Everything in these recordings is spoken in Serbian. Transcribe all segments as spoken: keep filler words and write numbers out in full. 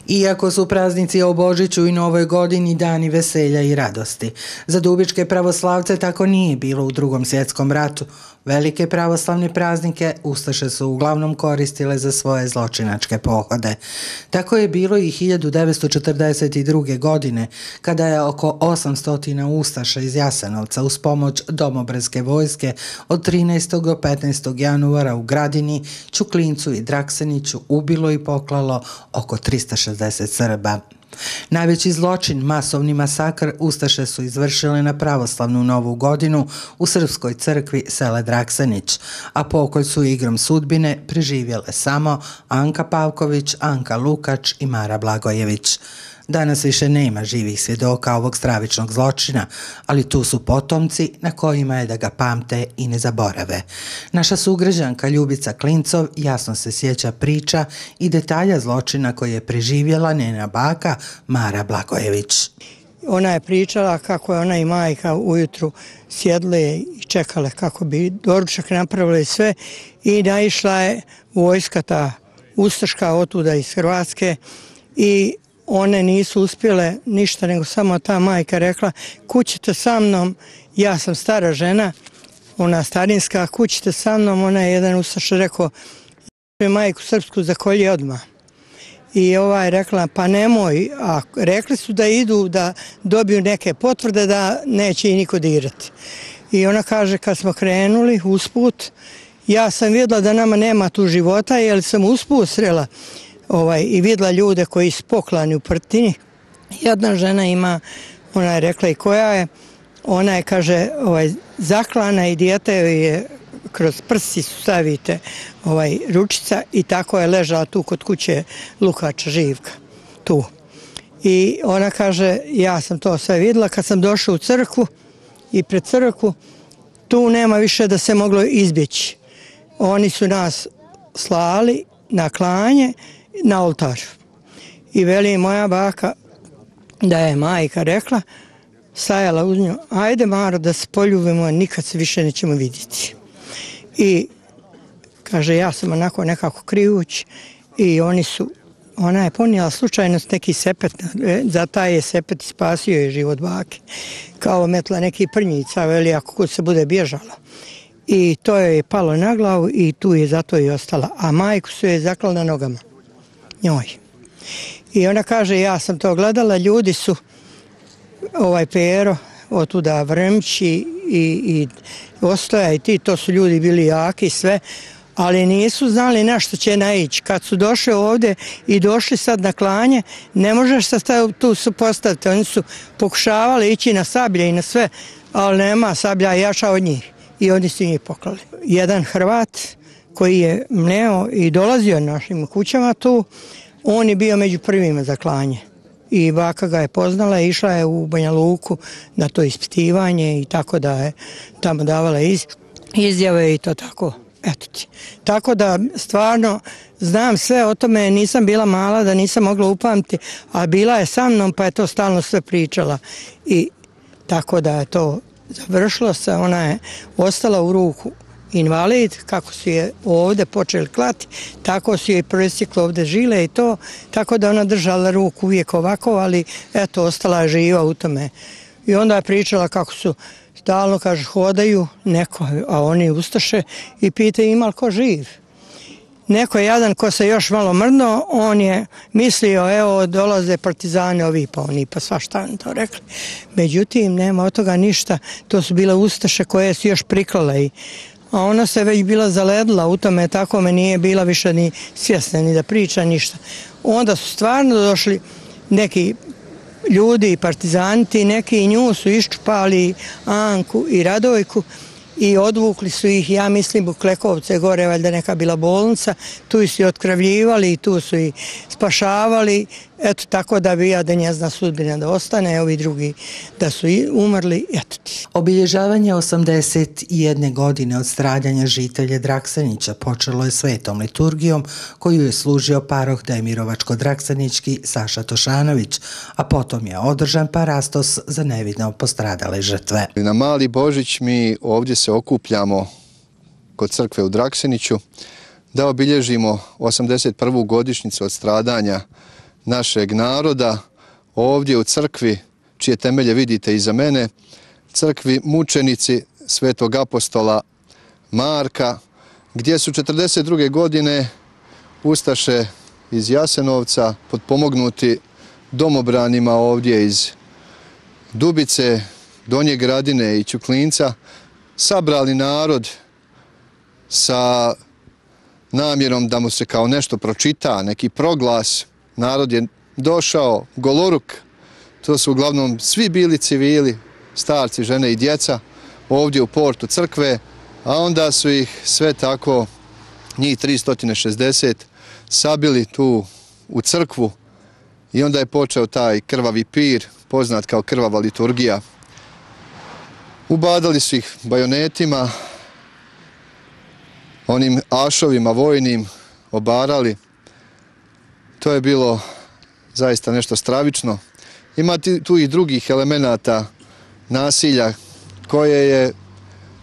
Iako su praznici o Božiću i Novoj godini dani veselja i radosti, za dubičke pravoslavce tako nije bilo u Drugom svjetskom ratu. Velike pravoslavne praznike ustaše su uglavnom koristile za svoje zločinačke pohode. Tako je bilo i hiljadu devetsto četrdeset druge. godine, kada je oko osamsto ustaša iz Jasenovca uz pomoć domobranske vojske od trinaestog do petnaestog januara u Gradini, Ćuklincu i Drakseniću ubilo i poklalo oko trista šezdeset Srba. Najveći zločin, masovni masakr, ustaše su izvršile na pravoslavnu Novu godinu u srpskoj crkvi sele Draksenić, a pokolj su igrom sudbine preživjele samo Anka Pavković, Anka Lukač i Mara Blagojević. Danas više nema živih svjedoka ovog stravičnog zločina, ali tu su potomci na kojima je da ga pamte i ne zaborave. Naša sugrađanka Ljubica Klincov jasno se sjeća priča i detalja zločina koje je preživjela njena baka Mara Blagojević. Ona je pričala kako je ona i majka ujutru sjedle i čekale kako bi doručak napravili sve i naišla je vojska ta ustaška otuda iz Hrvatske i one nisu uspjele ništa, nego samo ta majka rekla kućite sa mnom, ja sam stara žena, ona starinska, kućite sa mnom, ona je jedan ustaš rekao majku srpsku zakolji odmah. I ova je rekla pa nemoj, a rekli su da idu da dobiju neke potvrde da neće i niko dirati. I ona kaže kad smo krenuli usput, ja sam vidjela da nama nema tu života jer sam usput srela Ovaj, i vidjela ljude koji su poklani u Prtini. Jedna žena ima, ona je rekla i koja je, ona je, kaže, ovaj, zaklana i dijete je kroz prsi su stavite ovaj, ručica i tako je ležala tu kod kuće Lukača Živka, tu. I ona kaže, ja sam to sve vidjela kad sam došla u crkvu i pred crkvu, tu nema više da se moglo izbjeći. Oni su nas slali na klanje, na oltar. I veli moja baka da je majka rekla, stajala uz nju, ajde Maro da se poljubimo, nikad se više nećemo vidjeti. I kaže, ja sam onako nekako krivuć i oni su, ona je ponijela slučajnost neki sepet, za taj je sepet spasio je život bake, kao metla neki prnjica, veli ako se bude bježala. I to je palo na glavu i tu je zato i ostala, a majku su je zaklala na nogama. Njoj. I ona kaže, ja sam to gledala, ljudi su, ovaj Pero, otuda Vrmći i, i Ostoja i ti, to su ljudi bili jaki sve, ali nisu znali na što će naići. Kad su došli ovdje i došli sad na klanje, ne možeš se tu su postaviti. Oni su pokušavali ići na sablje i na sve, ali nema sablja jača od njih i oni su njih poklali. Jedan Hrvat koji je mneo i dolazio našim kućama tu, on je bio među prvima za klanje. I baka ga je poznala, išla je u Banja Luku na to ispitivanje i tako da je tamo davala iz, izjave i to tako. Eto ti. Tako da stvarno znam sve o tome, nisam bila mala da nisam mogla upamti, a bila je sa mnom pa je to stalno sve pričala. I tako da je to završilo se, ona je ostala u ruku invalid, kako su je ovdje počeli klati, tako su je presjeklo ovdje žile i to, tako da ona držala ruku uvijek ovako, ali eto, ostala je živa u tome. I onda je pričala kako su stalno, kaže, hodaju neko, a oni ustaše i pitaju ima li ko živ. Neko je jadan ko se još malo mrno, on je mislio, evo, dolaze partizani ovi, pa oni pa svašta oni to rekli. Međutim, nema od toga ništa, to su bile ustaše koje su još priklale i a ona se već bila zaledila u tome, tako me nije bila više ni svjesna, ni da priča ništa. Onda su stvarno došli neki ljudi i partizanti, neki nju su iščupali Anku i Radojku i odvukli su ih, ja mislim, u Klekovce, gore valjda neka bila bolnica, tu su i otkravljivali i tu su i spašavali, eto tako da bi ja da njezna sudbina da ostane, ovi drugi da su umrli, eto ti. Obilježavanje osamdeset jedne godine od stradanja žitelja Draksenića počelo je svetom liturgijom koju je služio paroh Demirovačko-Draksenički Saša Tošanović, a potom je održan parastos za nevidno postradale žrtve. Na Mali Božić mi ovdje se okupljamo kod crkve u Drakseniću da obilježimo osamdeset prvu godišnjicu od stradanja našeg naroda, ovdje u crkvi, čije temelje vidite iza mene, crkvi mučenici svetog apostola Marka, gdje su četrdeset druge godine ustaše iz Jasenovca, potpomognuti domobranima ovdje iz Dubice, Donje Gradine i Ćuklinca, sabrali narod sa namjerom da mu se kao nešto pročita, neki proglas. Narod je došao goloruk, to su uglavnom svi bili civili, starci, žene i djeca, ovdje u portu crkve, a onda su ih sve tako, njih tristo šezdeset, sabili tu u crkvu i onda je počeo taj krvavi pir, poznat kao krvava liturgija. Ubadali su ih bajonetima, onim ašovima vojnim, obarali. To je bilo zaista nešto stravično. Ima tu i drugih elemenata nasilja koje je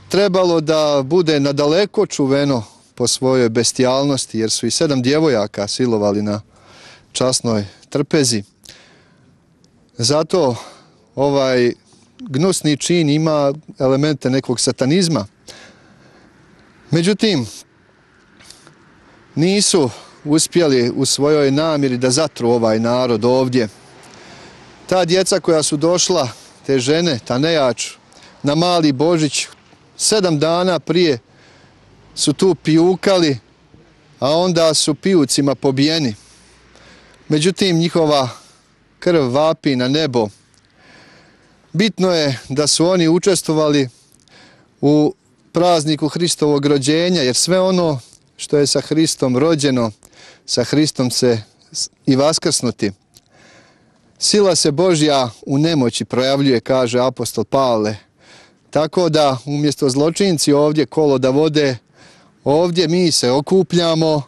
trebalo da bude nadaleko čuveno po svojoj bestijalnosti, jer su i sedam djevojaka silovali na časnoj trpezi. Zato ovaj gnusni čin ima elemente nekog satanizma. Međutim, nisu uspjeli u svojoj namjeri da zatru ovaj narod ovdje. Ta djeca koja su došla, te žene, ta nejač, na Mali Božić, sedam dana prije su tu pijukali, a onda su pijucima pobijeni. Međutim, njihova krv vapi na nebo. Bitno je da su oni učestvovali u prazniku Hristovog rođenja, jer sve ono što je sa Hristom rođeno, sa Hristom se i vaskrsnuti. Sila se Božja u nemoći projavljuje, kaže apostol Pavle. Tako da umjesto zločinci ovdje kolo da vode, ovdje mi se okupljamo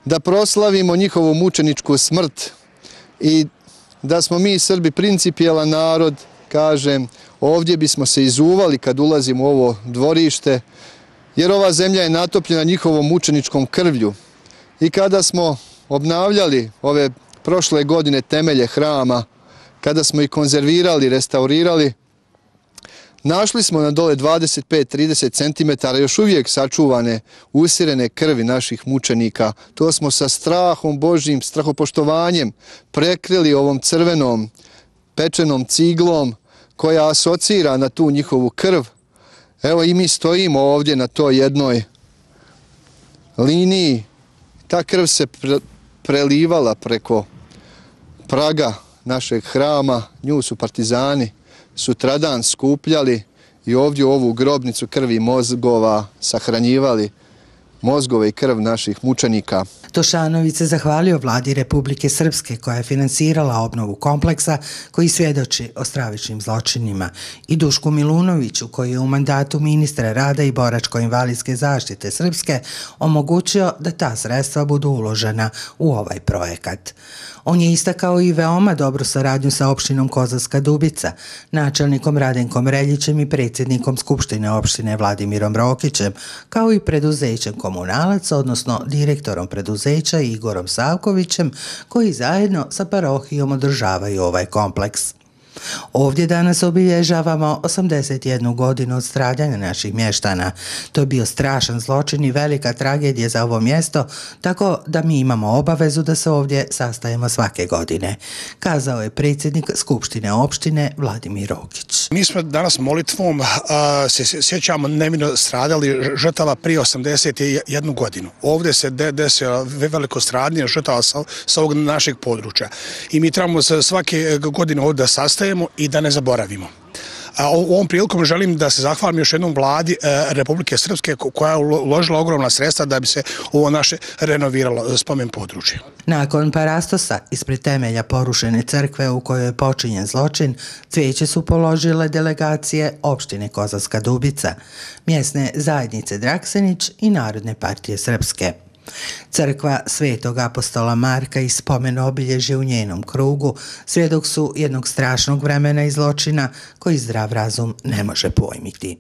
da proslavimo njihovu mučeničku smrt i da smo mi Srbi principijelan narod, kažem, ovdje bismo se izuvali kad ulazimo u ovo dvorište, jer ova zemlja je natopljena njihovom mučeničkom krvlju. I kada smo obnavljali ove prošle godine temelje hrama, kada smo ih konzervirali, restaurirali, našli smo na dole dvadeset pet do trideset centimetara još uvijek sačuvane, usirene krvi naših mučenika. To smo sa strahom Božjim, strahopoštovanjem prekrili ovom crvenom, pečenom ciglom koja asocira na tu njihovu krv. Evo i mi stojimo ovdje na toj jednoj liniji. Ta krv se pre, prelivala preko praga našeg hrama, nju su partizani sutradan skupljali i ovdje u ovu grobnicu krvi i mozgova sahranjivali mozgove i krv naših mučenika. Tošanović se zahvalio vladi Republike Srpske koja je finansirala obnovu kompleksa koji svjedoči o stravičnim zločinima i Dušku Milunoviću koji je u mandatu ministra rada i boračko-invalidske zaštite Srpske omogućio da ta sredstva budu uložena u ovaj projekat. On je istakao i veoma dobru saradnju sa opštinom Kozarska Dubica, načelnikom Radenkom Reljićem i predsjednikom Skupštine opštine Vladimirom Rokićem, kao i preduzećem Komunalac, odnosno direktorom preduzeća Igorom Savkovićem, koji zajedno sa parohijom održavaju ovaj kompleks. Ovdje danas obilježavamo osamdeset jednu godinu od stradanja naših mještana. To je bio strašan zločin i velika tragedija za ovo mjesto, tako da mi imamo obavezu da se ovdje sastajemo svake godine, kazao je predsjednik Skupštine opštine Vladimir Rokić. Mi smo danas molitvom a, se sjećamo nevino stradali žrtava prije osamdeset jednu godinu. Ovdje se de, desilo veliko stradanje žrtava sa, sa ovog našeg područja i mi trebamo se svake godine ovdje sastajemo i da ne zaboravimo. A ovom prilikom želim da se zahvalim još jednom vladi Republike Srpske koja je uložila ogromna sredstva da bi se ovo naše renoviralo spomen područje. Nakon parastosa ispred temelja porušene crkve u kojoj je počinjen zločin, cvijeće su položile delegacije opštine Kozarska Dubica, mjesne zajednice Draksenić i Narodne partije Srpske. Crkva Svetog apostola Marka i spomen obilježje u njenom krugu svjedok su jednog strašnog vremena i zločina koji zdrav razum ne može pojmiti.